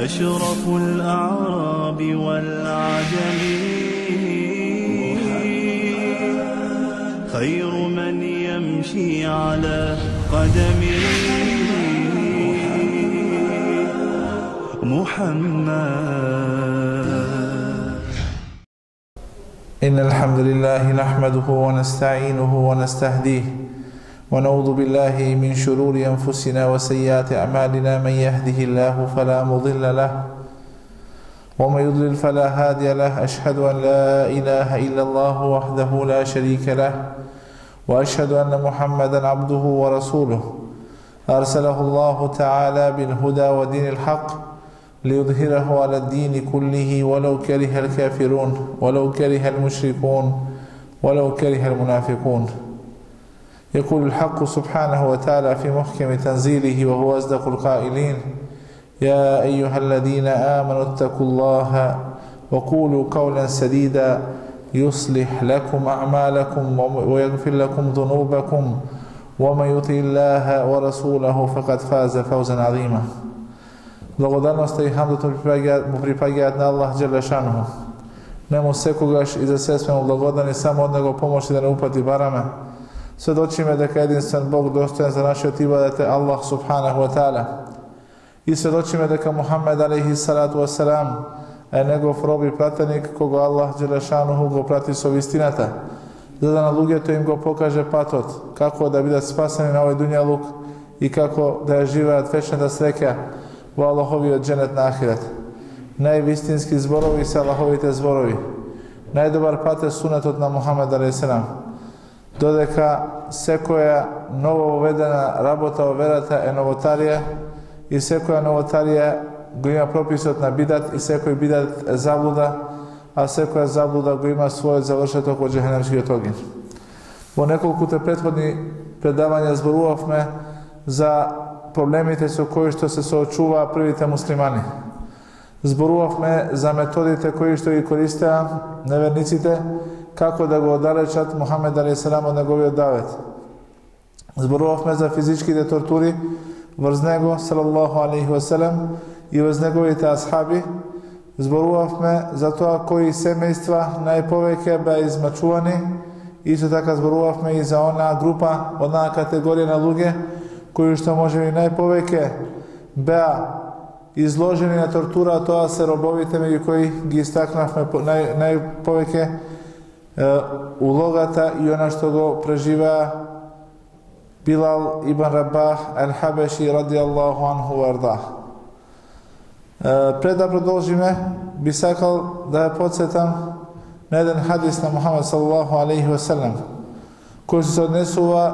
أشرف الأعراب والعجم خير من يمشي على قدمه محمد. إن الحمد لله نحمده ونستعينه ونستهديه ونعوذ بالله من شرور أنفسنا وسيئات أعمالنا. من يهده الله فلا مضل له ومن يضلل فلا هادي له. أشهد أن لا إله إلا الله وحده لا شريك له وأشهد أن محمدا عبده ورسوله أرسله الله تعالى بالهدى ودين الحق ليظهره على الدين كله ولو كره الكافرون ولو كره المشركون ولو كره المنافقون. يقول الحق سبحانه وتعالى في محكم تنزيله وهو أصدق القائلين: يا أيها الذين آمنوا اتقوا الله وقولوا قولا سديدا يصلح لكم أعمالكم ويغفر لكم ذنوبكم ومن يطع الله ورسوله فقد فاز فوزا عظيما. Благодарност и хамдот му припаѓаат на Аллах џеле шануху. Нему секогаш и за се сме му благодарни, само од него помоши да не упати бараме. Сведочиме дека единствен Бог достоен за нашиот ибадет е Аллах субханаху ва таала. И сведочиме дека Мухаммед алейхи салату ва селам е негов роб и пратеник кого Аллах џеле шануху го прати со вистината, за да на луѓето им го покаже патот, како да бидат спасени на овој дуњалук и како да ја живеат вечната среќа во Аллаховиот џенет на ахирет. Највистински зборови се Аллаховите зборови. Најдобар пат е сунетот на Мухаммед алейхи селам. Додека секоја ново воведена работа во верата е новотарија и секоја новотарија го има прописот на бидат и секој бидат е заблуда, а секоја заблуда го има својот завршеток во џехенемскиот огин. Во неколкуте претходни предавања зборувавме за проблемите со кои што се соочуваа првите муслимани. Зборувавме за методите кои што ги користеа неверниците како да го оддалечат Мухаммед алейхи селам од неговиот давет. Зборувавме за физичките тортури врз него салаллаху алейхи ва селем и врз неговите асхаби. Зборувавме за тоа кои семејства најповеќе беа измачувани. Исто така зборувавме и за онаа група, онаа категорија на луѓе кои што можеби најповеќе беа изложени на тортура, тоа се робовите меѓу кои ги истакнавме најповеќе улогата и она што го преживеа Билал ибн Рабах ал-Хабеши радијаллаху анху варда. Пред да продолжиме, би сакал да ја подсетам на еден хадис на Мухаммед саллаллаху алейхи ва селем, кој се однесува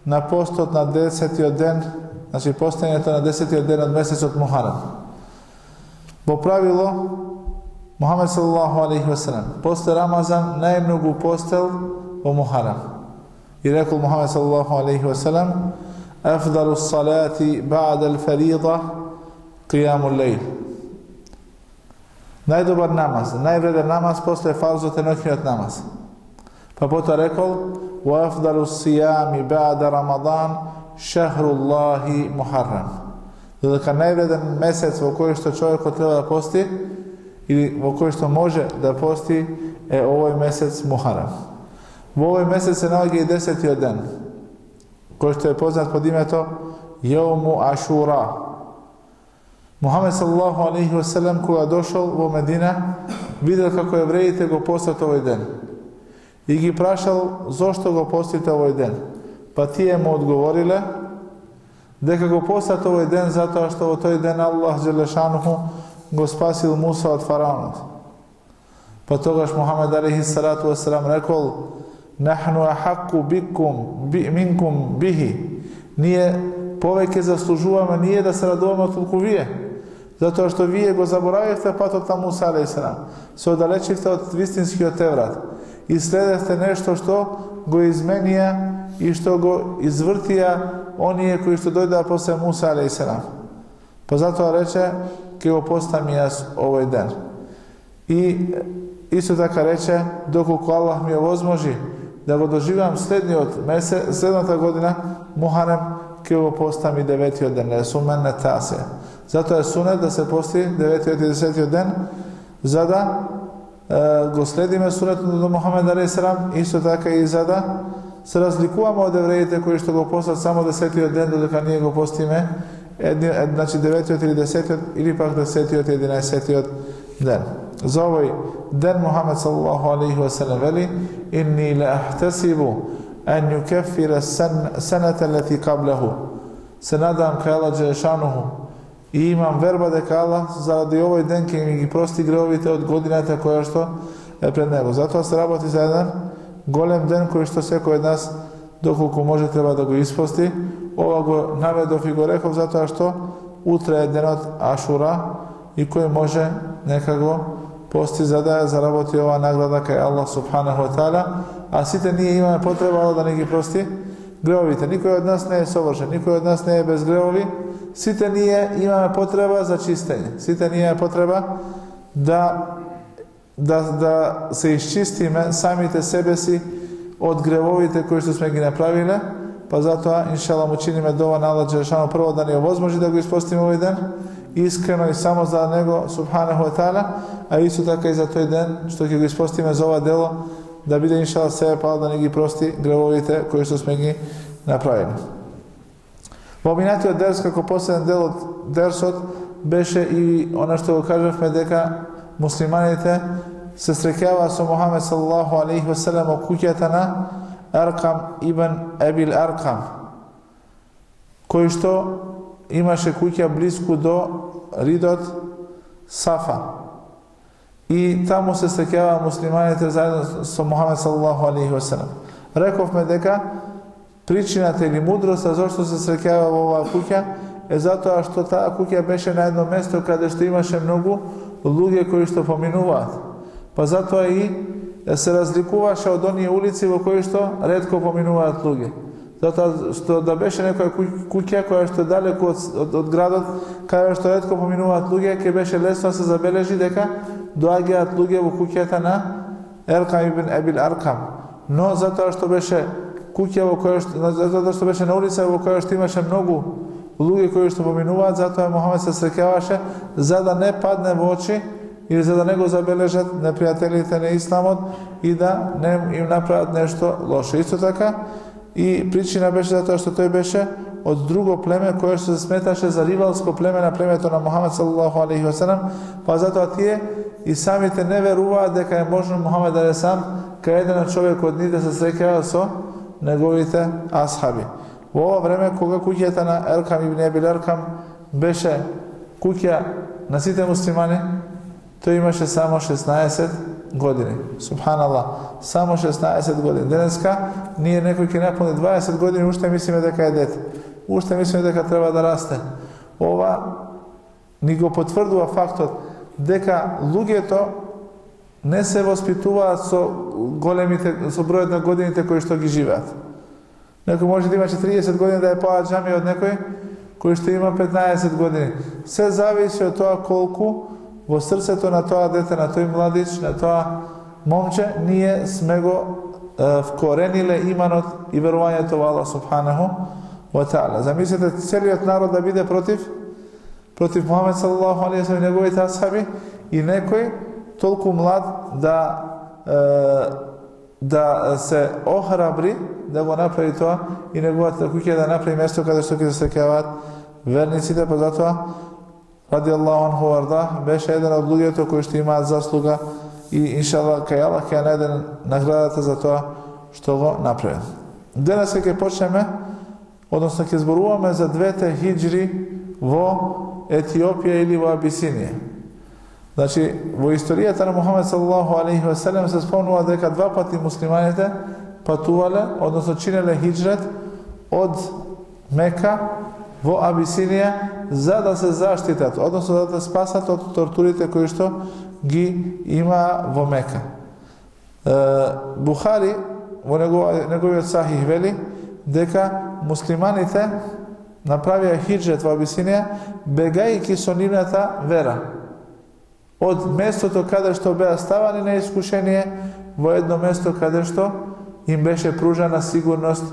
на постот на 10-тиот ден, значи постојањето на 10-тиот ден од месецот Мухарам. Во правило, Мухаммед саллаллаху алейхи ва селем после Рамазан најмногу постел во Мухарам. И рекол Мухаммед саллаллаху алейхи ва селем: "Афдалу ссалати ба'да ал-фарида қијамул лейл." Најдобар намаз, највреден намаз после фарзот е ноќниот намаз. Па потоа рекол: "Ва афдалу ссијами ба'да Рамадан шахруллахи Мухаррам." Додека највреден месец во кој што човекот треба да пости или во кој што може да пости е овој месец Мухаррам. Во овој месец се наоѓа и 10-тиот ден, кој што е познат под името Јауму Ашура. Мухаммед саллаллаху алейхи ва селем кога дошол во Медина, видел како евреите го постат овој ден и ги прашал зошто го постите овој ден. Па тие му одговориле дека го постат овој ден затоа што во тој ден Аллах џелешануху го спасил Муса од фараонот. Па тогаш Мухаммед алейхи салату ва селам рекол: "Нахну ахакку минкум бихи." Ние повеќе заслужуваме ние да се радуваме отколку вие, затоа што вие го заборавивте патот на Муса алейхи селам, се оддалечивте од вистинскиот Еврат и следевте нешто што го изменија и што го извртија оние кои што дојдоа после Муса алейхи селам. Па затоа рече: "Ке го постам јас овој ден." И исто така рече: "Доколку Аллах ми овозможи да го доживеам следната година, Мухарем, ќе го постам и 9-тиот ден, не сумен не тасе. Затоа е сунет да се пости 9-тиот и 10-тиот ден, за да го следиме сунетот на Мухамед алейхи селам, исто така и за да се разликуваме од евреите кои што го постат само 10-тиот ден, додека ние го постиме значи 9-тиот или 10-тиот или пак 10-тиот и 11-тиот ден. За овој ден Мухамед саллаллаху алейхи ва селем вели: "Инни ла ахтасибу an yukaffira sanata allati qablahu." Се надам кај Аллах џелешануху и имам верба дека Аллах заради овој ден ќе ми ги прости гревовите од годината која што е пред него. Затоа се работи за еден голем ден кој што секој од нас доколку може треба да го испости. Ова го наведов и го реков затоа што утре е денот Ашура и кој може нека го пости за да заработи ова награда кај Аллах субханаху ва таала, а сите ние имаме потреба Аллах да ни ги прости гревовите. Никој од нас не е совршен, никој од нас не е без гревови. Сите ние имаме потреба за чистење. Сите ние имаме потреба да се исчистиме самите себе си од гревовите кои што сме ги направиле, па затоа иншалла му чиниме дова на Аллах џелешану прво да ни овозможи да го испостиме овој ден, искрено и само за него субханаху ва таала, а исто така и за тој ден што ќе го испостиме за ова дело, да биде иншалла себе пал да ни ги прости гревовите кои што сме ги направили. Во минатиот дерс, како последен дел од дерсот, беше и она што го кажавме дека муслиманите се среќаваа со Мухамед саллаллаху алейхи ва селем во куќата на Аркам ибн Ебил Аркам, кој што имаше куќа близко до ридот Сафа. И таму се среќаваа муслиманите заедно со Мухамед саллаллаху алейхи ва селем. Рековме дека причината или мудроста зашто се среќава во оваа куќа е затоа што таа куќа беше на едно место каде што имаше многу луѓе кои што поминуваат. Па затоа и се разликуваше од оние улици во кои што ретко поминуваат луѓе. Затоа што да беше некоја куќа која што е далеку од градот, каде што ретко поминуваат луѓе, ќе беше лесно да се забележи дека доаѓаат луѓе во куќата на Аркам ибн Ебил Аркам. Но затоа што беше куќа во која што беше на улица во која што имаше многу луѓе кои што поминуваат, затоа Мухамед се среќаваше за да не падне во очи или за да не го забележат непријателите на исламот и да не им направат нешто лошо. Исто така и причина беше затоа што тој беше од друго племе кое што се сметаше за ривалско племе на племето на Мухамед саллаллаху алейхи ва селем, па затоа тие и самите не веруваат дека е можно Мухамед алейхи салам кај еден човек од нив да се среќава со неговите асхаби. Во ова време кога куќата на Аркам ибн Ебил Аркам беше куќа на сите муслимани, тој имаше само 16 години. Субханаллах, само 16 години. Денеска ние некој ќе напуни 20 години, уште мислиме дека е дете. Уште мислиме дека треба да расте. Ова ни го потврдува фактот дека луѓето не се воспитуваат со бројот на годините кои што ги живеат. Некој може да има 40 години да е поаѓами од некој кој што има 15 години. Се зависи од тоа колку во срцето на тоа дете, на тој младич, на тоа момче, ние сме го вкорениле иманот и верувањето во Аллах субханаху ва таала. Замислете целиот народ да биде против Мухамед саллаллаху алейхи ва селем и неговите асхаби и некој толку млад да се охрабри да го направи тоа и неговата куќа да направи место каде што ќе се среќаваат верниците, па затоа ради Аллаху анху варда беше еден од луѓето кои што имаат заслуга и иншаллах кај Аллах ќе најде наградата за тоа што го направи. Денес ќе почнеме, односно ќе зборуваме за двете хиџри во Етиопија или во Абисинија. Значи, во историјата на Мухамед саллаллаху алейхи ва селем се спомнува дека два пати муслиманите патувале, односно чинеле хиџрет од Мека во Абисинија за да се заштитат, односно да се спасат од тортурите кои што ги има во Мека. Бухари во неговиот сахих вели дека муслиманите направија хиџрет во Абисинија бегајќи со нивната вера од местото каде што беа ставани на искушение во едно место каде што им беше пружана сигурност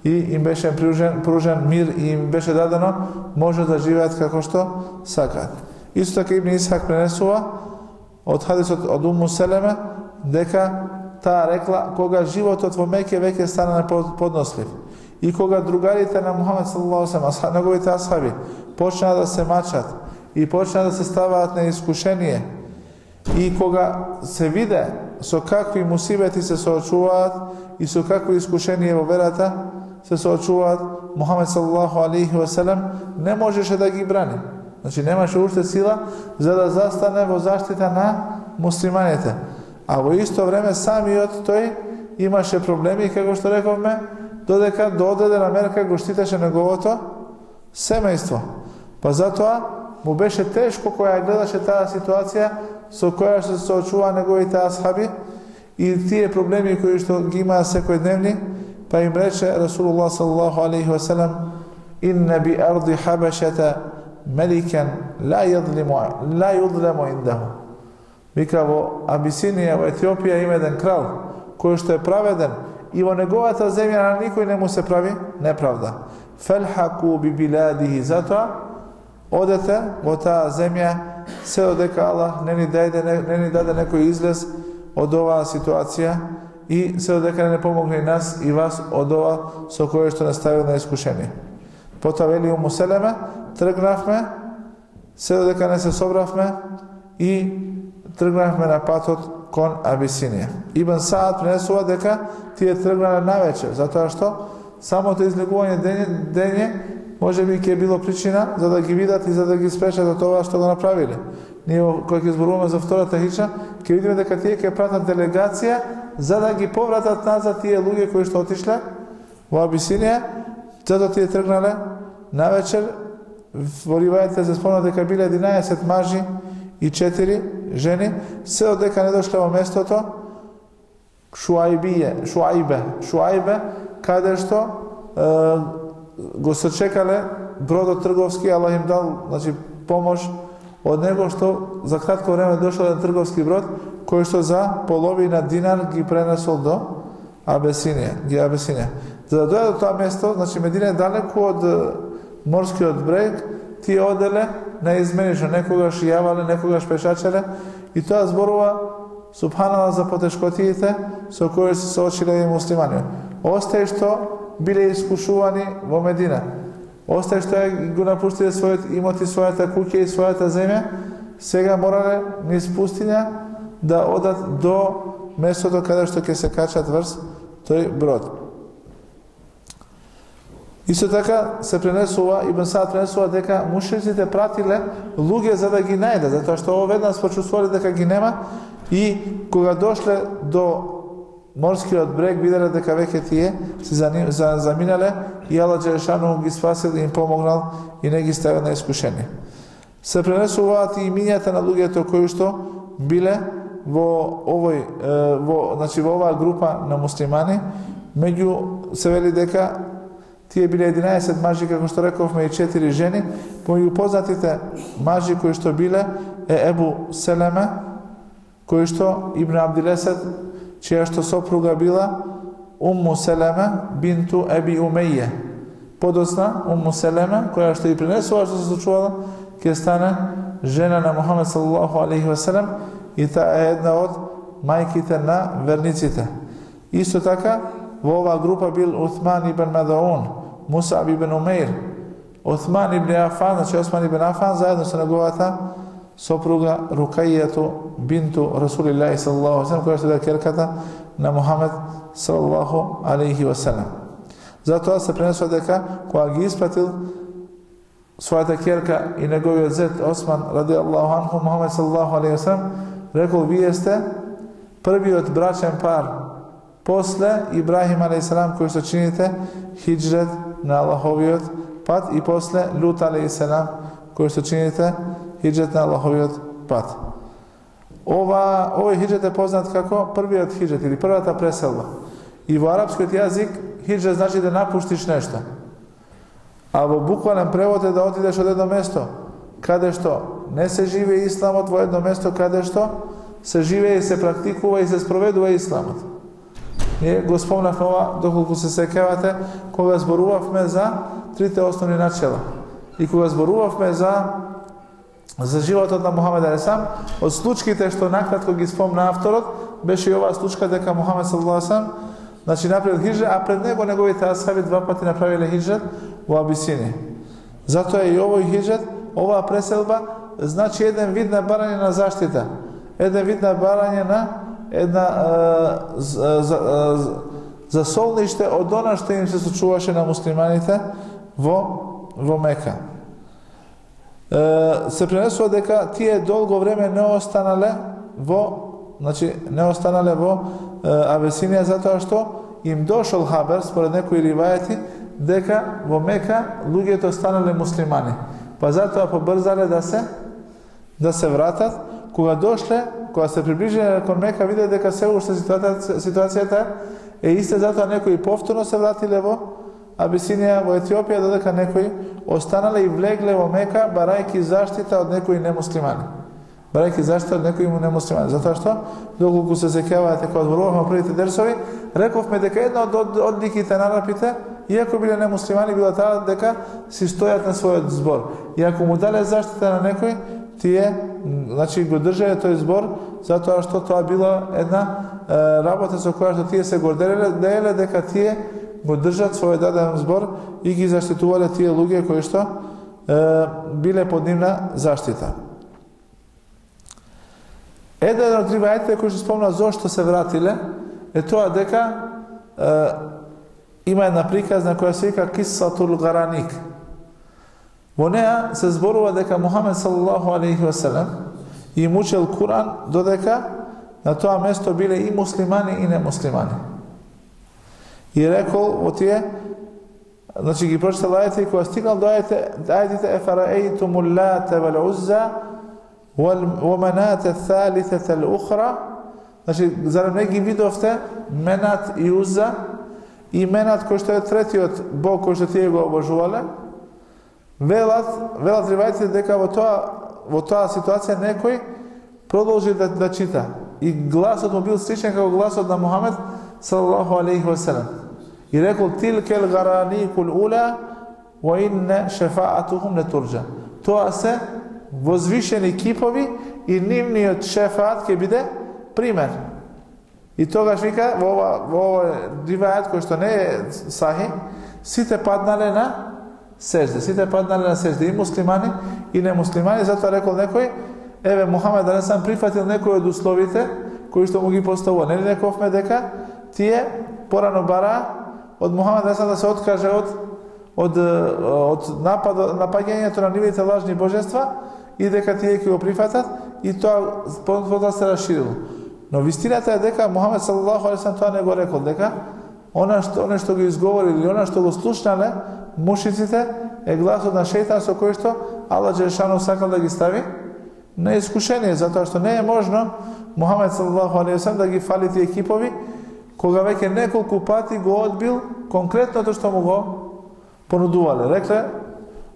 и им беше пружен мир и им беше дадено може да живеат како што сакаат. Исто така Ибн Исхак пренесува од хадисот од Уму Селеме дека таа рекла кога животот во Меке веќе стана неподнослив и кога другарите на Мухамед саллаллаху алейхи ва салем, неговите асхаби, почнаа да се мачат и почнаа да се ставаат на искушение и кога се виде со какви мусибети се соочуваат и со какви искушенија во верата се соочуваат, Мухамед саллаллаху алейхи ва салем не можеше да ги брани. Значи немаше уште сила за да застане во заштита на муслиманите. А во исто време самиот тој имаше проблеми, како што рековме, додека до одредена мерка го штитеше неговото семејство. Па затоа му беше тешко кога гледаше таа ситуација со која се соочува неговите асхаби и тие проблеми кои што ги имаа секојдневни, па им рече Расулуллах саллаллаху алейхи ва салем: "Инна би арди хабашата меликен ла юдлему индаху." Вика, во Абисинија, во Етиопија има еден крал кој што е праведен и во неговата земја на никој не му се прави неправда. Фелхаку би биладихи, затоа одете во таа земја се додека Аллах не ни даде некој излез од оваа ситуација и се додека не помогне и нас и вас од ова со кое што не ставил на искушение. Потоа вели Уму Селеме, тргнавме се додека не се собравме и тргнавме на патот кон Абисинија. Ибн Саад пренесува дека тие тргнале навечер, затоа што самото излегување дење може би ќе било причина за да ги видат и за да ги спрешат од тоа што го направиле. Ние кога ќе зборуваме за втората хиджра, ќе видиме дека тие ќе пратат делегација за да ги повратат назад тие луѓе кои што отишле во Абисинија, затоа тие тргнале навечер. Во ривајите се спомна дека биле 11 мажи и 4 жени, се додека не дошле во местото Шуајбе, каде што го сочекале бродот трговски, Аллах им дал, значи, помош од него што за кратко време дошол еден трговски брод кој што за половина динар ги пренесол до Абисинија. За да дојде до тоа место, значи Медина е далеку од морскиот брег, тие оделе неизменично, некогаш јавале, некогаш пешачеле, и тоа зборува субханала за потешкотиите со кои се соочиле и муслимани. Остај што биле искушувани во Медина. Остај што го напуштиле својот имот и својата куќа и својата земја, сега морале низ пустиња да одат до местото каде што ќе се качат врз тој брод. Исто така се пренесува, Ибн Саад пренесува дека мушриците пратиле луѓе за да ги најдат, затоа што веднаш почувствувале дека ги нема и кога дошле до морскиот брег виделе дека веќе тие се заминале и Аллах Джелешану ги спасил и им помогнал и не ги ставил на искушение. Се пренесуваат и имињата на луѓето кои што биле во оваа група на муслимани, меѓу се вели дека тие биле 11 мажи, како што рековме, и 4 жени. Помеѓу познатите мажи кои што биле е Ебу Селеме, кој што Ибн Абдилесед, чија што сопруга била Умму Селеме бинту Еби Умеје. Подосна Умму Селеме, која што и пренесува што се случувало, ќе стане жена на Мухамед саллаллаху алейхи ва салем и таа е една од мајките на верниците. Исто така во оваа група бил Уthman ибн Мадаун, Мусаб ибн Умейр, Уthman ибн Афан, значи Осман ибн Афан, заедно со неговата сопруга Рукајјату бинту Расулиллахи саллаллаху алейхи ва салем, која што е керката на Мухамед саллаллаху алейхи ва салем. Затоа се пренесува дека кога ги испратил својата керка и неговиот зет Осман ради Аллаху анху, Мухамед саллаллаху алейхи ва салем рекол: вие сте првиот брачен пар после Ибрахим алейхиссалам кој што чините хиджрет на Аллаховиот пат и после Лут алейхиссалам кој што чините хиджрет на Аллаховиот пат. Овој хиджрет е познат како првиот хиджрет или првата преселба. И во арапскиот јазик хиджрет значи да напуштиш нешто. А во буквален превод е да отидеш од едно место каде што не се живее исламот, во едно место каде што се живее и се практикува и се спроведува исламот. Ние го спомнавме ова, доколку се сеќавате, кога зборувавме за трите основни начела. И кога зборувавме за животот на Мухамед алейхиссалам, од случките што накратко ги спомна авторот, беше и оваа случка дека Мухамед саллаллаху алейхи ва саллем значи направил хиџра, а пред него неговите асхаби два пати направиле хиџрат во Абисинија. Затоа и овој хиџрат, оваа преселба, значи еден вид на барање на заштита, еден вид на барање на една за солниште од она што им се случуваше на муслиманите во Мека. Се пренесува дека тие долго време не останале во Абисинија затоа што им дошол хабер според некои ривајати дека во Мека луѓето станале муслимани. Па затоа побрзале да се вратат. Кога се приближиле кон Мека, виде дека се уште ситуацијата е иста, затоа некои повторно се вратиле во Абисинија, во Етиопија, додека некои останале и влегле во Мека, барајки заштита од некои немуслимани. Затоа што, доколку се сеќавате кога зборувавме првите дерсови, рековме дека една од одликите на арапите, иако биле немуслимани, била таа дека си стојат на својот збор. И ако му дале заштита на некој, тие го држале тој збор, затоа што тоа била една работа со која што тие се горделеле дека тие го држат својот даден збор и ги заштитувале тие луѓе кои што биле под нивна заштита. Еден од ривајатите кои што спомна зошто се вратиле е тоа дека има една приказна која се вика Кисатул Гараник. Во неа се зборува дека Мухамед саллаллаху алейхи ва салем им учел Куран додека на тоа место биле и муслимани и немуслимани. И рекол во тие, значи ги прочитал ајите и кога стигнал до ајетите Ефараейтумул Лата вал Узза ва Манат ат-Тhalithata al-Ukhra, значи зарем не ги видовте Менат и Узза и Менат кој што е третиот бог кој што тие го обожувале. Велат ривајците дека во тоа ситуација некој продолжи да чита и гласот му бил сличен како гласот на Мухамед саллаллаху алейхи ва салем. И рекол тилкел гараникул ула ва инна шефаатухум летурджа. Тоа се возвишени кипови и нивниот шефаат ќе биде пример. И тогаш вика во овој ривајат кој што не е сахи, сите паднале на сежде, и муслимани и немуслимани. Затоа рекол некој, еве Мухамед алейхиссалам прифатил некој од условите кои што му ги поставува. Нели рековме дека тие порано бара од Мухамед алейхиссалам да се откаже од напаѓањето на нивните лажни божества и дека тие ќе го прифатат и тоа потоа се расширило. Но вистината е дека Мухамед саллаллаху алейхи ва салем тоа не го рекол, дека она што го изговорили или она што го слушнале мушиците е гласот на шејтан со кој што Аллах џелешану сакал да ги стави на искушение, затоа што не е можно Мухамед саллаллаху алейхи ва салем да ги фали тие кипови кога веќе неколку пати го одбил конкретното што му го понудувале. Рекле,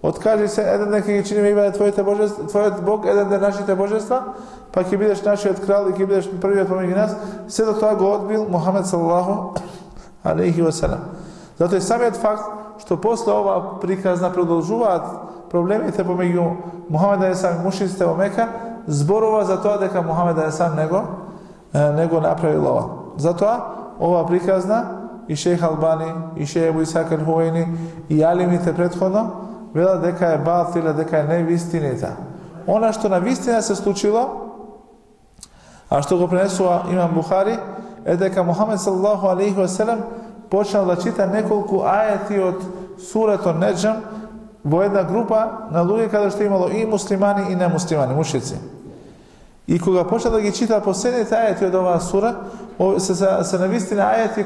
откажи се, еден ден ќе ги чиниме ибаде твојот Бог, еден ден нашите божества, па ќе бидеш нашиот крал и ќе бидеш првиот помеѓу нас. Се до тоа го одбил Мухамед саллаллаху алейхи ва салем. Затоа и самиот факт што после ова приказна продолжуваат проблемите помеѓу Мухамед алейхиссалам и мушриците во Мека, зборува за тоа дека Мухамед алейхиссалам не го направил ова. Затоа ова приказна и шејх Албани, и шејх Ебу Исак ал-Хувајни и алимите претходно велат дека е батил, дека е невистинита. Она што на вистина се случило, а што го пренесува имам Бухари, е дека Мухамед саллаллаху алейхи ва салем почнал да чита неколку ајети од сурето Неџм во една група на луѓе каде што имало и муслимани и немуслимани, мушрици. И кога почна да ги чита последните ајети од оваа сура, се навистина ајети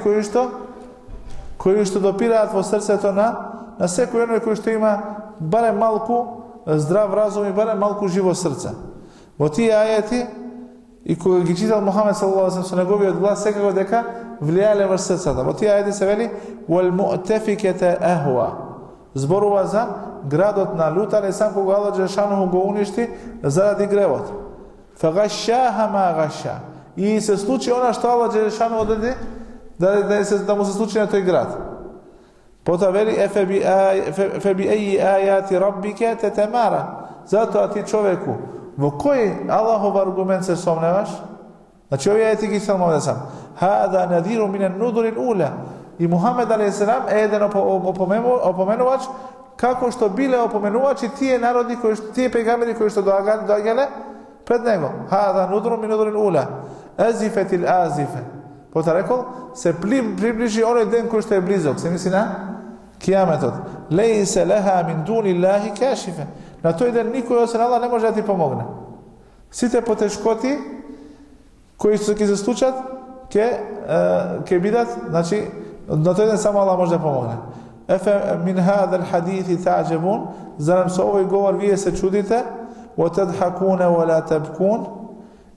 кои што допираат во срцето на секој оној кој што има барем малку здрав разум и барем малку живо срце. Во тие ајети и кога ги читал Мухамед саллаллаху алейхи ва салем со неговиот глас, секако дека влијале врз срцата. Во тие ајети се вели вал му'тафиката ахва. Зборува за градот на Лут алейхиссалам кога Аллах џелешану го уништи заради гревот. Фагашаха ма гаша. И се случи она што Аллах џелешану одреди да му се случи на тој град. Потоа вели феби аји ајати раббике тетемара. Затоа ти човеку, во кој Аллахов аргумент се сомневаш? Значи овие ајати ги цел Мухамед сам. Хада надиру минен нудурил ула. И Мухамед алейхиссалам е еден опоменувач како што биле опоменувачи тие народи тие пегамбери кои што доаѓале пред него. Хада нудуру мин нудурил ула. Азифетил азифе. Потоа рекол се приближи оној ден кој што е близок. Се мисли на кијаметот. Лейсе леха мин дуниллахи кашифе. На тој ден никој освен Аллах не може да ти помогне. Сите потешкоти кои што ќе се случат ќе бидат, значи на тој ден само Аллах може да помогне. Ефе мин хадал хадиthi та'џабун, зарем со овој говор вие се чудите, wa tadhakuna wa la tabkun,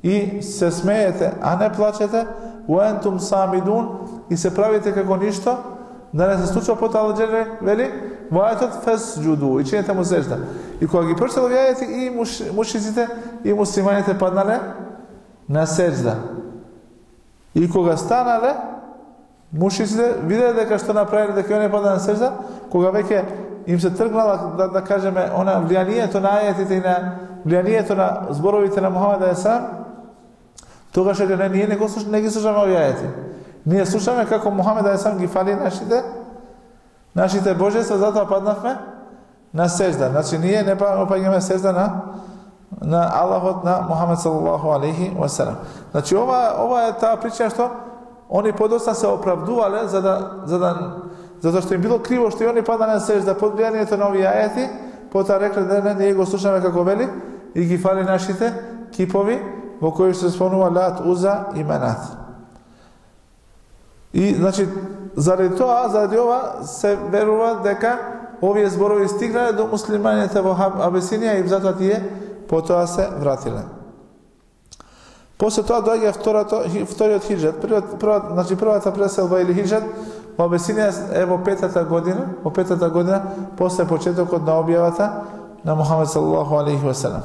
и се смеете, а не плачете, wa antum самидун, и се правите како ништо, да не се случува. Потоа Аллах вели вајатот фасџуду, и чинете му сежда. И кога ги прочитал ајати, и мушриците и муслиманите паднале на сежда. И кога станале, мушриците виделе дека што направиле, дека не паднале на сежда, кога веќе им се тргнала, да кажеме, она влијанието на ајатите и на влијанието на зборовите на Мухамед алейхиссалам, тогаш реколе ние не ги слушаме овие ајати. Ние слушаме како Мухамед алейхиссалам ги фали нашите божества, затоа паднавме на сежда. Значи ние не паѓаме сежда на Аллахот, на Мухамед саллаллаху алейхи ва селем. Значи ова е таа причина што они подоцна се оправдувале затоа што им било криво што и они паднале на сежда под влијанието на овие ајати, потоа рекле не, ние го слушаме како вели и ги фали нашите кипови во кои се спомнува Лат, Уза и Менат. И значи заради ова се верува дека овие зборови стигнале до муслиманите во Абесинија и затоа тие потоа се вратиле. После тоа доаѓа вториот хиџрат. Првата преселба или хиџрат во Абесинија е во петата година после почетокот на објавата на Мухамед саллаллаху алейхи ва селем.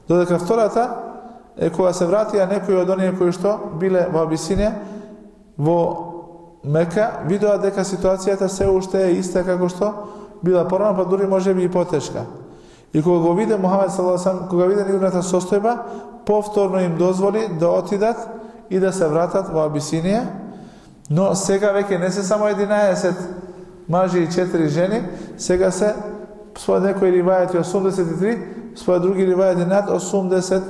Додека втората е кога се вратија некои од оние кои што биле во Абесинија во Мека, видоа дека ситуацијата се уште е иста како што била порано, па дури може би и потешка. И кога го виде Мухамед саллаллаху алейхи ва селем, кога виде нивната состојба, повторно им дозволи да отидат и да се вратат во Абисинија, но сега веќе не се само 11 мажи и 4 жени, сега се според некои ривајати 83, според други ривајати над 80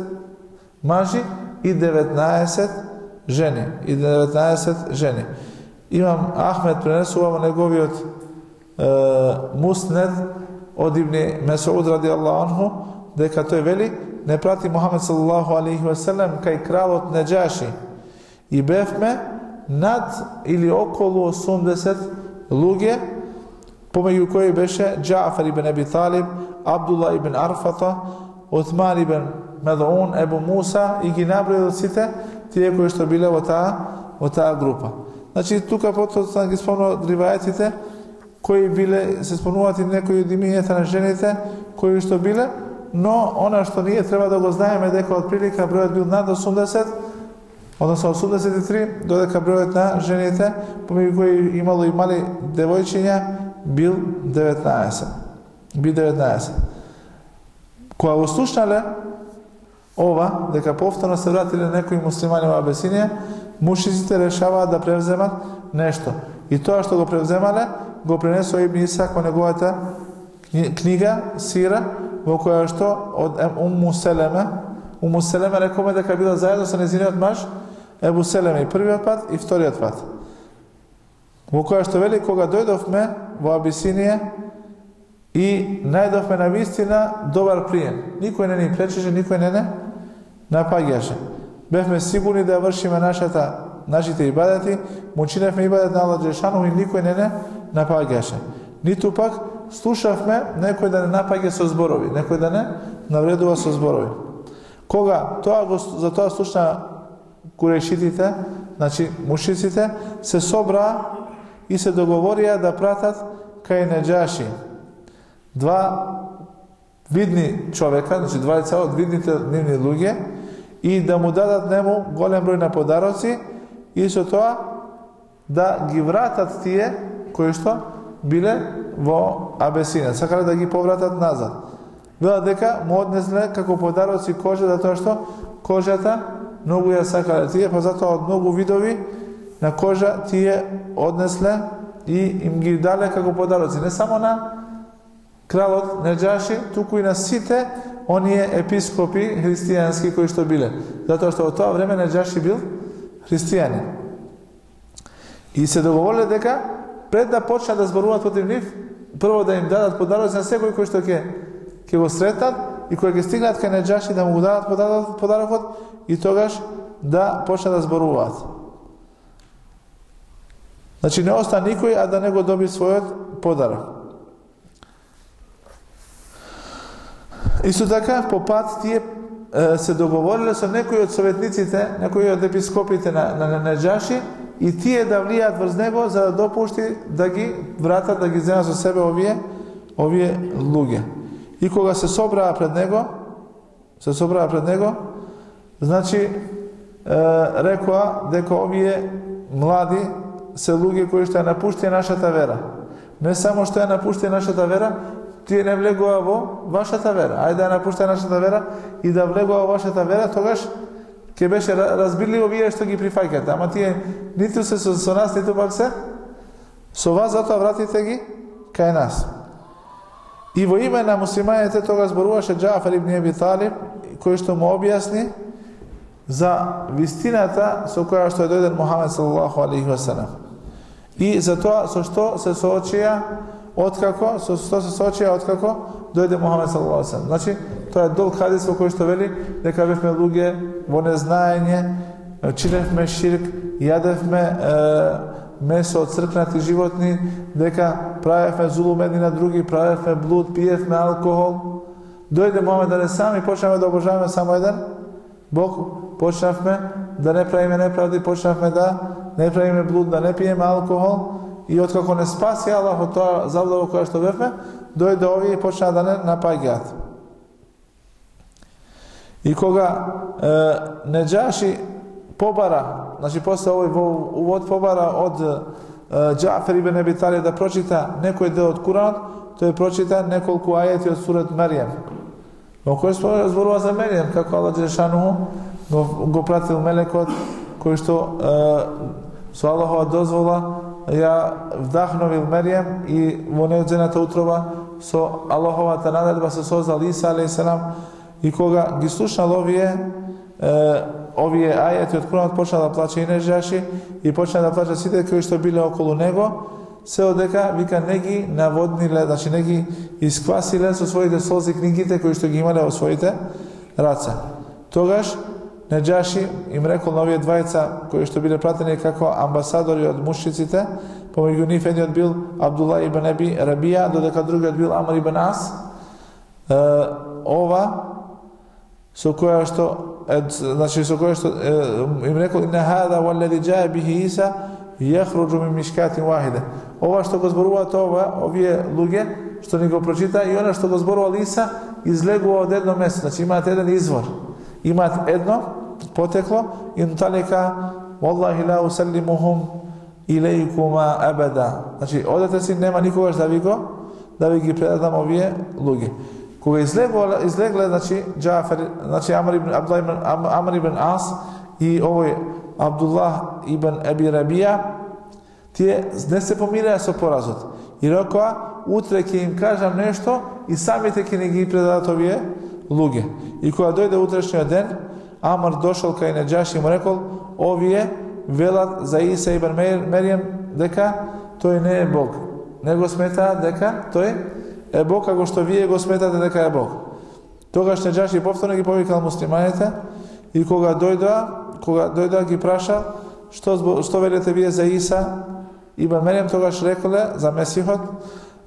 мажи и 19 жени. Имам Ахмед пренесува во неговиот муснед од Ибни Месуд радијаллаху анху дека тој вели не прати Мухамед саллаллаху алейхи ва селем кај кралот Неџаши и бевме над или околу 80 луѓе, помеѓу кои беше Џафар ибн Аби Талиб, Абдулла ибн Арфата, Утман ибн Медун, Ебу Муса, и ги наброил сите тие кои што биле во таа група. Значи тука потоа ги спомнува ривајатите кои биле, се спомнуваат и некои од имињата на жените кои што биле, но она што ние треба да го знаеме дека од прилика бројот бил над 80, односно 83, додека бројот на жените, помеѓу кои имало и мали девојчиња, бил 19. Кога го слушнале ова, дека повторно се вратиле некои муслимани во Абесинија, мушриците решаваат да превземат нешто. И тоа што го превземале, го пренесува Ибн Исак во неговата книга Сира, во која што од Умму Селеме рекоме дека била заедно со нејзиниот маж Ебу Селеме и првиот пат и вториот пат. Во која што вели кога дојдовме во Абисинија и најдовме на вистина добар прием. Никој не ни пречеше, никој не напаѓаше. Бевме сигурни да вршиме нашите ибадати, му чиневме ибадат на Аллах Џелешану и никој не напаѓаше. Ниту пак слушавме некој да не напаѓа со зборови, некој да не навредува со зборови. Кога за тоа слушна курешитите, значи мушриците, се собраа и се договорија да пратат кај Неџаши два видни човека, значи двајца од видните нивни луѓе, и да му дадат нему голем број на подароци и со тоа да ги вратат тие кои што биле во Абесинија, сакале да ги повратат назад. Велат дека му однесле како подароци кожа, затоа што кожата многу ја сакале тие, па затоа од многу видови на кожа тие однесле и им ги дале како подароци. Не само на кралот Неџаши, туку и на сите оние епископи христијански кои што биле. Затоа што во тоа време Неџаши бил христијанин. И се договориле дека пред да почнат да зборуваат против нив, прво да им дадат подароци на секој кој што ќе го сретнат и кој ќе стигнат кај Неџаши да му го дадат подарокот и тогаш да почнат да зборуваат. Значи не остана никој а да не го доби својот подарок. Исто така по пат тие се договориле со некои од советниците, некои од епископите на Неџаши и тие да влијат врз него за да допушти да ги вратат, да ги земат со себе овие луѓе. И кога се собраа пред него, значи рекоа дека овие млади се луѓе кои што ја напуштија нашата вера. Не само што ја напуштија нашата вера, тие не влегува во вашата вера. Ајде да ја напуштија нашата вера и да влегува во вашата вера, тогаш ќе беше разбирливо вие што ги прифаќате. Ама тие ниту се со нас, ниту пак се со вас, затоа вратите ги кај нас. И во име на муслиманите тога зборуваше Џафар ибн Аби Талиб, кој што му објасни за вистината со која што е дојден Мухамед салаллаху алейхи ва салам. И за тоа со што се соочија откако дојде Мухамед салаллаху алейхи ва салам. Значи, тоа е долг хадис во кој што вели дека бевме луѓе во незнаење, чиневме ширк, јадевме месо од цркнати животни, дека правевме зулум едни на други, правевме блуд, пиевме алкохол. Дојде Мухамед алейхи салам и почнавме да обожаваме само еден Бог, почнавме да не правиме неправди, почнавме да не правиме блуд, да не пиеме алкохол и откако не спаси Аллах од тоа заблуда во која што бевме, дојде овие и почна да не напаѓаат. И кога Неџаши побара, значи после овој увод побара од Џафар ибн Аби Талиб да прочита некој дел од Куранот, тој прочита неколку ајети од сурат Маријам. Во кој зборува за Маријам, како Аллах џелешануху го пратил мелекот кој што со Аллахова дозвола ја вдахновил Маријам и во нејзината утроба со Аллаховата наредба се создал Иса алейхиссалам. И кога ги слушнал овие ајети од Куранот, почна да плаче и Неџаши и почна да плаче сите кои што биле околу него, се одека вика не ги наводниле, значи не ги исквасиле со своите солзи книгите кои што ги имале во своите раце. Тогаш Неџаши им рекол на овие двајца кои што биле пратени како амбасадори од мушриците, помеѓу нив едниот бил Абдулла ибн Аби Рабија, додека другиот бил Амр ибн Ас, ова со која што им рекол инна хада валлади џаа бихи Иса јахруџу мин мишкатин вахида. Ова што го зборуваат овие луѓе што ни го прочита и она што го зборувал Иса излегува од едно место, значи имаат еден извор, имаат едно потекло и талика валлахи ла усалимухум илейкума абада. Значи одете си, нема никогаш да ви ги предадам овие луѓе. Кога излегле, значи Џафар, значи Амр ибн Ас и овој Абдуллах ибн Аби Рабија, тие не се помираа со поразот. И рекоа, утре ќе им кажам нешто и самите ќе ни ги предадат овие луѓе. И кога дојде утрешниот ден, Амр дошол кај Неџаши и му рекол, овие велат за Иса ибн Меријам дека тој не е Бог. Не го сметаат дека тој е Бог, како што вие го сметате дека е Бог. Тогаш Неџаши повторно ги повикал муслиманите и кога дојдоа ги праша што велите вие за Иса ибн Меријам, тогаш реколе за Месихот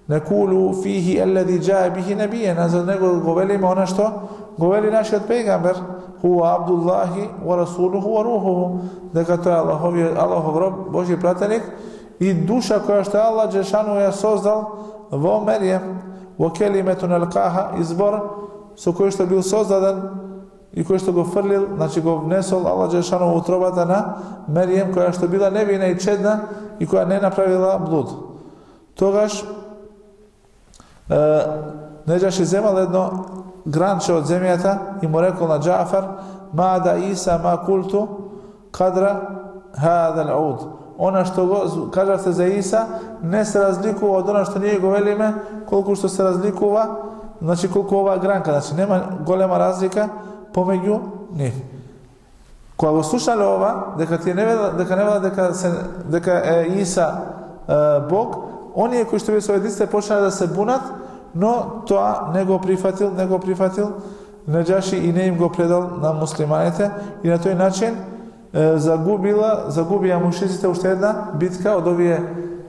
некулу фихи аллади џаа бихи набијен, за него го велиме она што го вели нашиот пејгамбер, хуа Абдуллахи ва расулуху ва рухуху, дека тој е Аллахов роб, Божји пратеник и душа која што Аллах џелешану ја создал во Меријам, во келиметун алкаха, избор со кој што бил создаден и кој што го фрлил, значи го внесол Аллах џелешану во утробата на Меријам, која што била невина и чедна и која не направила блуд. Тогаш Неџаши земал едно гранче од земјата и му рекол на Џафар: "Мада Иса ма култу кадра хадал ауд." Она што го кажавте за Иса не се разликува од она што ние го велиме, колку што се разликува, значи колку оваа гранка, значи нема голема разлика помеѓу нив. Кога го слушале ова, дека не велат дека е Иса Бог, оние кои што беа советниците почнале да се бунат, но тоа не го прифатил Неџаши и не им го предал на муслиманите и на тој начин загубија мушриците уште една битка од овие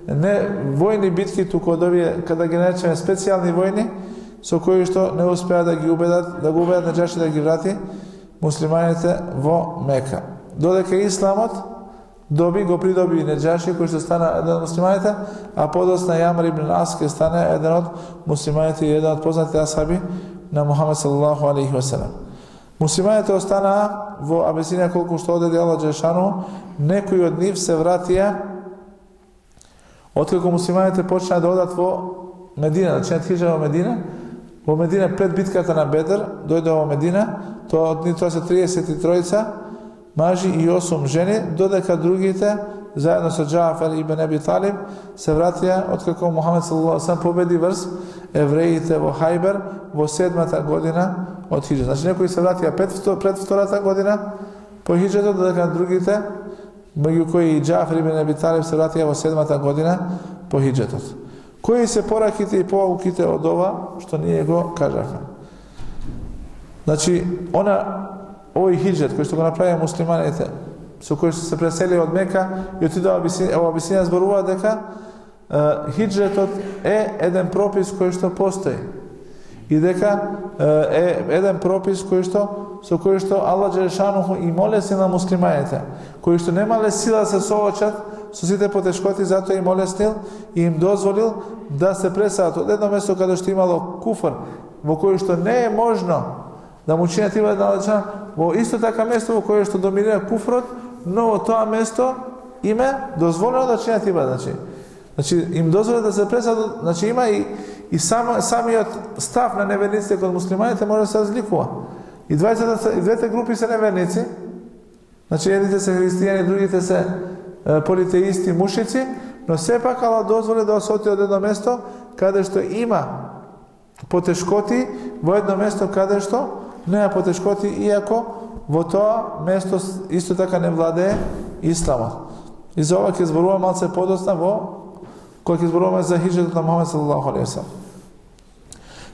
не војни битки, туку од овие, када ги наречеме специјални војни, со кои што не успеа да го убедат Неџаши да ги врати муслиманите во Мека. Додека исламот го придоби Неџаши, кој што стана еден од муслиманите, а подоцна Јамар ибн Ас ке стане еден од муслиманите и еден од познатите асхаби на Мухамед салаллаху алейхи ва селем. Муслиманите останаа во Абесинија колку што одеде Аллах џелешану, некои од нив се вратија откако муслиманите почнаа да одат во Медина, да чинат хиџра во Медина. Во Медина пред битката на Бедр дојде во Медина, тоа се 33 мажи и 8 жени, додека другите заедно со Џафар ибн Аби Талиб се вратија откако Мухамед салаллаху алейхи ва селем победи врз евреите во Хајбер во 7-та година од хиџрата. Значи некои се вратија пред втората година по хиџрата, додека другите, меѓу кои и Џафар ибн Аби Талиб, се вратија во 7-та година по хиџретот. Кои се пораките и поуките од ова што ние го кажавме? Значи, овој хиџрет кој што го направија муслиманите, со кој што се преселија од Мека и отидоа во Абисинија, зборува дека хиџретот е еден пропис кој што постои и дека е еден пропис со кој што Аллах џелешануху и молеси на муслиманите, кои што немале сила да се соочат со сите потешкоти, затоа им олеснил и им дозволил да се преселат од едно место каде што имало куфр, во кој што не е можно да му чинат ибадет на Аллах, во исто така место во кое што доминира куфрот, но во тоа место им е дозволено да чинат ибадет. Значи им дозволено да се преселат, значи има и самиот став на неверниците кон муслиманите може да се разликува. И двете групи се неверници, значи едните се христијани, другите се политеисти, мушици, но сепак Аллах дозволи да се оти од едно место каде што има потешкоти, во едно место каде што нема потешкоти, иако во тоа место исто така не владее исламот. И за ова ќе зборувам малце подоцна кога ќе зборуваме за хиџретот на Мухамед салаллаху алейхи ва селем.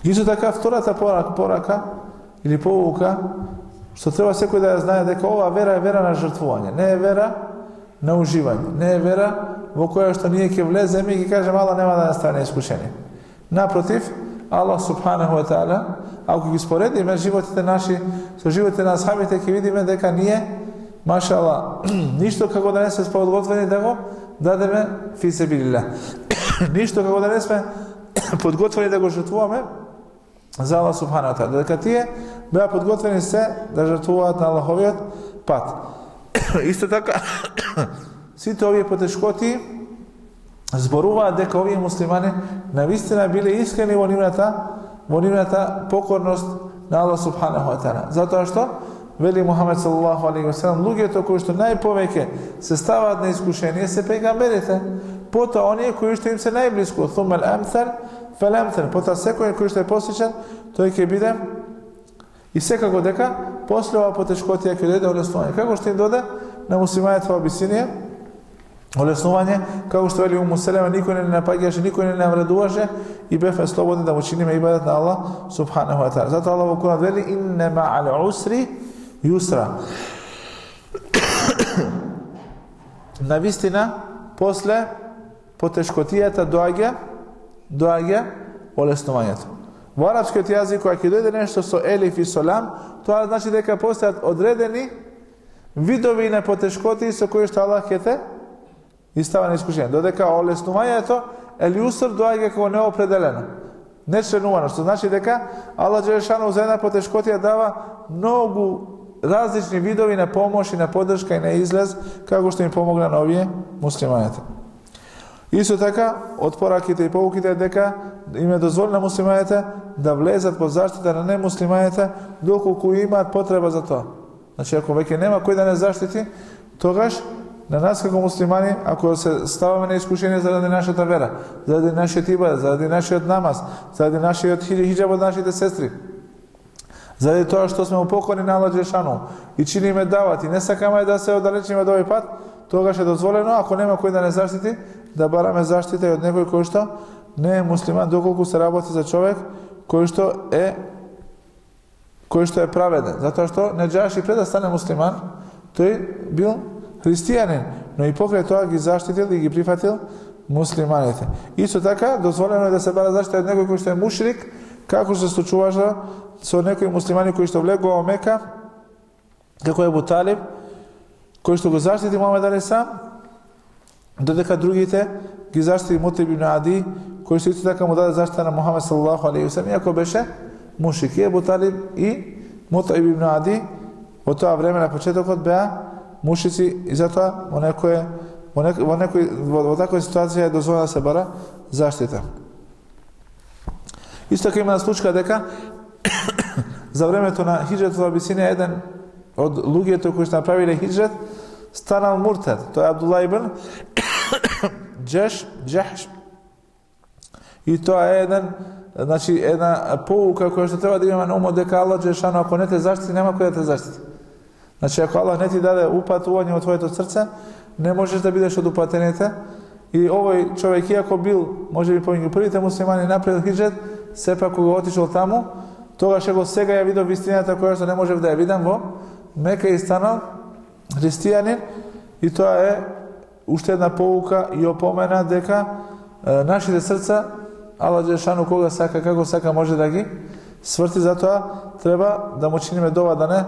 Исто така втората порака или поука што треба секој да ја знае, дека ова вера е вера на жртвување, не е вера на уживање, не е вера во која што ние ќе влеземе и ќе кажеме Аллах нема да стане искушение. Напротив, Аллах субханаху ва таала, ако ги споредиме животите наши со животите на асхабите, ќе видиме дека ние, машалла, ништо како да не сме подготвени да го дадеме фи себилилlah. Ништо како да не сме подготвени да го жртвуваме за Аллах субханаху ва таала. Дека тие беа подготвени се да жртвуваат на Аллаховиот пат. Исто така, сите овие потешкоти зборуваат дека овие муслимани навистина биле искрени во нивната покорност на Аллах субханаху ва таала. Затоа што вели Мухамед салаллаху алейхи ва селем, луѓето кои што најповеќе се ставаат на искушение се пејгамберите, потоа оние кои што им се најблиску, thumma al-amthal fal-amthal, потоа секој кој што е посличен, тој ќе биде. И секако дека после ова потешкотија ќе дојде олеснување. Како што им доде на муслиманите во Абисинија олеснување, како што вели Уму Селема, никој не напаѓаше, никој не навредуваше и бевме слободни да му чиниме ибадет на Аллах субханаху ва таала. Затоа Аллах во Куран вели инна ма'ал усри юсра. Навистина после потешкотијата доаѓа олеснувањето. Во арапскиот јазик, кога ќе дојде нешто со елиф и со лам, тоа значи дека постојат одредени видови на потешкоти со кои што Аллах ќе те истава на искушение. Додека олеснувањето елјуср доаѓа како неопределено, нечленувано, што значи дека Аллах џелешану за една потешкотија дава многу различни видови на помош и на поддршка и на излез, како што им помогна на овие муслиманите. Исто така, од пораките и поуките дека им е дозволено на муслиманите да влезат под заштита на немуслиманите доколку имаат потреба за тоа. Значи, ако веќе нема кој да не заштити, тогаш на нас како муслимани, ако се ставаме на искушение заради нашата вера, заради нашиот ибадет, заради нашиот намаз, заради нашиот хиџаб од нашите сестри, заради тоа што сме упокорни на Аллах Џелешану и чиниме дават и не сакаме да се оддалечиме од овој пат, тогаш е дозволено, ако нема кој да не заштити, да бараме заштита и од некој кој што не е муслиман, доколку се работи за човек кој што е праведен. Затоа што Неџаши пред да стане муслиман, тој бил христијанин, но и покрај тоа ги заштитил и ги прифатил муслиманите. Исто така, дозволено е да се бара заштита од некој кој што е мушрик, како што се случуваше со некои муслимани кои што влегува во Мека, како Ебу Талиб, кој што го заштити Мухамед алейхиссалам, додека другите ги заштити Мут'иб ибн Ади, кој што исто така му даде заштита на Мухамед саллаллаху алейхи ве селем, иако беше мушрик. И Ебу Талиб и Мут'иб ибн Ади во тоа време на почетокот беа мушрици и затоа во таква ситуација е дозволено да се бара заштита. Исто така има случка дека за времето на хиџрет во Абисинија еден од луѓето кои што направиле хиџрет станал муртед. Тој е Абдулла ибн Џахш. И тоа е една поука која што треба да имаме на умот дека Аллах Џелешану ако не те заштити, нема кој да те заштити. Значи ако Аллах не ти даде упатување во твоето срце, не можеш да бидеш од упатените. И овој човек, иако бил можеби помеѓу првите муслимани направил хиџрет, сепак кога отишол таму, тогаш го сега ја видов вистината која што не можев да ја видам во Мека и станал христијанин. И тоа е уште една поука и опомена дека нашите срца Аллах Џелешану кога сака, како сака може да ги сврти, затоа треба да му чиниме дова да не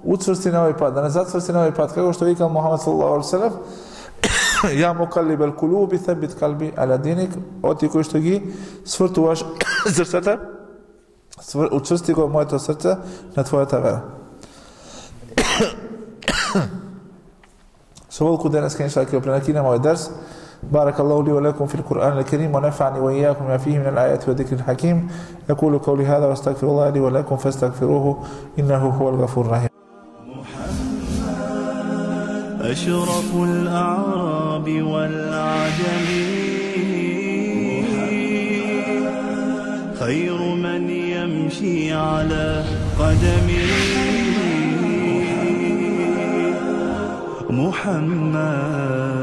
уцврсти на овој пат, да не зацврсти на овој пат, како што викал Мухамед саллаллаху алейхи ве селем: Ја мукаллибел кулуби тhabбит калби ала диник, оти кој што ги свртуваш срцата, учврсти го моето срце на твојата вера. Со волку денеска иншаллах ќе пренакинеме овој дерс. بارك الله لي ولكم في القرآن الكريم ونفعني وإياكم ما فيه من الآيات والذكر الحكيم. أقول قولي هذا واستغفر الله لي ولكم فاستغفروه إنه هو الغفور الرحيم. أشرف الأعراب والعجم خير من يمشي على قدمه محمد